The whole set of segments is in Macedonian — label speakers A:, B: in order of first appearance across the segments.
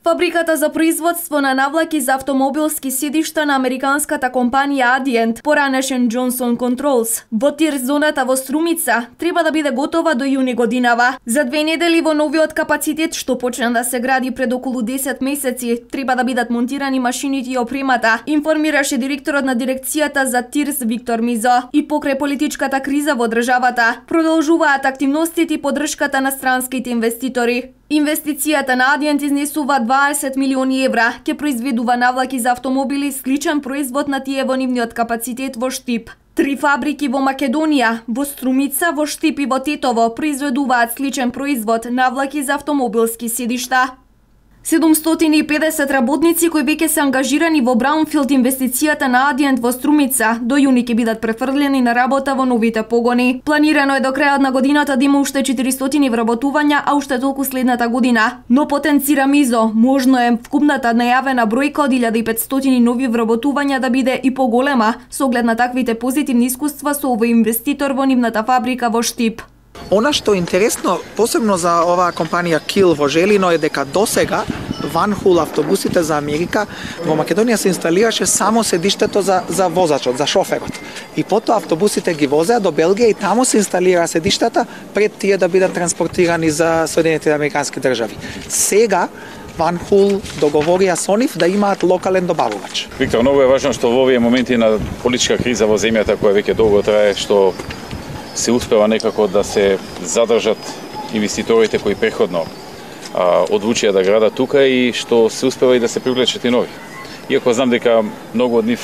A: Фабриката за производство на навлаки за автомобилски седишта на американската компанија Adient, поранешен Johnson Controls, во тир зоната во Струмица, треба да биде готова до јуни годинава. За 2 недели во новиот капацитет, што почна да се гради пред околу 10 месеци, треба да бидат монтирани машините и опремата, информираше директорот на дирекцијата за ТИРС Виктор Мизо. И покрај политичката криза во државата, продолжуваат активностите и поддршката на странските инвеститори. Инвестицијата на Adient изнесува 20 милиони евра, ќе произведува навлаки за автомобили сличен производ на тие во нивниот капацитет во Штип. 3 фабрики во Македонија, во Струмица, во Штип и во Тетово произведуваат сличен производ навлаки за автомобилски седишта. 750 работници кои веќе се ангажирани во Браунфилд инвестицијата на Adient во Струмица до јуни ќе бидат префрлени на работа во новите погони. Планирано е до крајот на годината да има уште 400 вработувања, а уште толку следната година. Но потенцира Мизо, можно е вкупната најавена бројка од 1500 нови вработувања да биде и поголема, со оглед на таквите позитивни искуства со овој инвеститор во нивната фабрика во Штип.
B: Она што е интересно, посебно за оваа компанија Кил во Желино, е дека досега Ванхул автобусите за Америка во Македонија се инсталираше само седиштето за возачот, за шоферот. И потоа автобусите ги возеа до Белгија и таму се инсталира седиштата пред тие да бидат транспортирани за Соединетите американски држави. Сега Ванхул договорија со нив да имаат локален добавувач.
C: Виктор, многу е важно што во овие моменти на политичка криза во земјата која веќе долго трае, што се успева некако да се задржат инвеститорите кои преходно одлучија да градат тука и што се успева и да се привлечат и нови. Иако знам дека многу од нив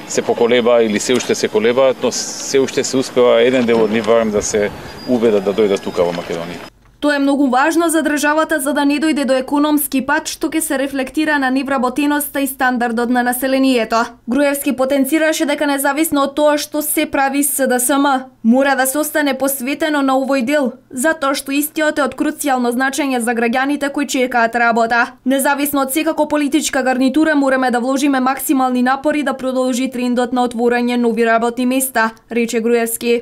C: се поколеба или се уште се колебаат, но се уште се успева еден дел од нив барем да се убедат да дојдат тука во Македонија.
A: Тоа е многу важно за државата за да не дојде до економски пат што ќе се рефлектира на невработеноста и стандардот на населението. Груевски потенцираше дека независно од тоа што се прави СДСМ, мора да се остане посветено на овој дел, затоа што истиот е од круцијално значење за граѓаните кои чекаат работа. Независно од секако политичка гарнитура, мораме да вложиме максимални напори да продолжи трендот на отворање нови работни места, рече Груевски.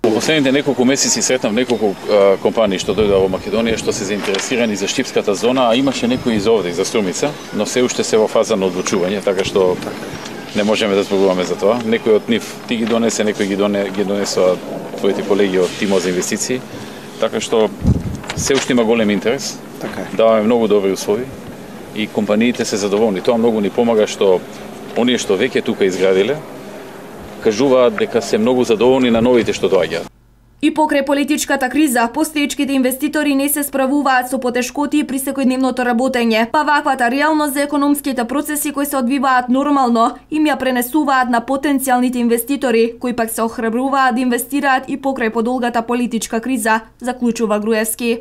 C: Во последните неколку месеци сретнав неколку компании што дојдоа во Македонија што се заинтересирани за штипската зона, а имаше некои из овде, за Струмица, но се уште се во фаза на одлучување, така што не можеме да зборуваме за тоа. Некој од нив ти ги донесе, некој ги донесоа твоите колеги од тимот за инвестиции, така што се уште има голем интерес.
B: Така е.
C: Даваме многу добри услови и компаниите се задоволни. Тоа многу ни помага што оние што веќе тука изградиле кажуваат дека се многу задоволни на новите што доаѓаат.
A: И покрај политичката криза, постоечките инвеститори не се справуваат со потешкоти при секојдневното работење, па ваквата реалност за економските процеси кои се одвиваат нормално им ја пренесуваат на потенцијалните инвеститори, кои пак се охрабруваат да инвестираат и покрај подолгата политичка криза, заклучува Груевски.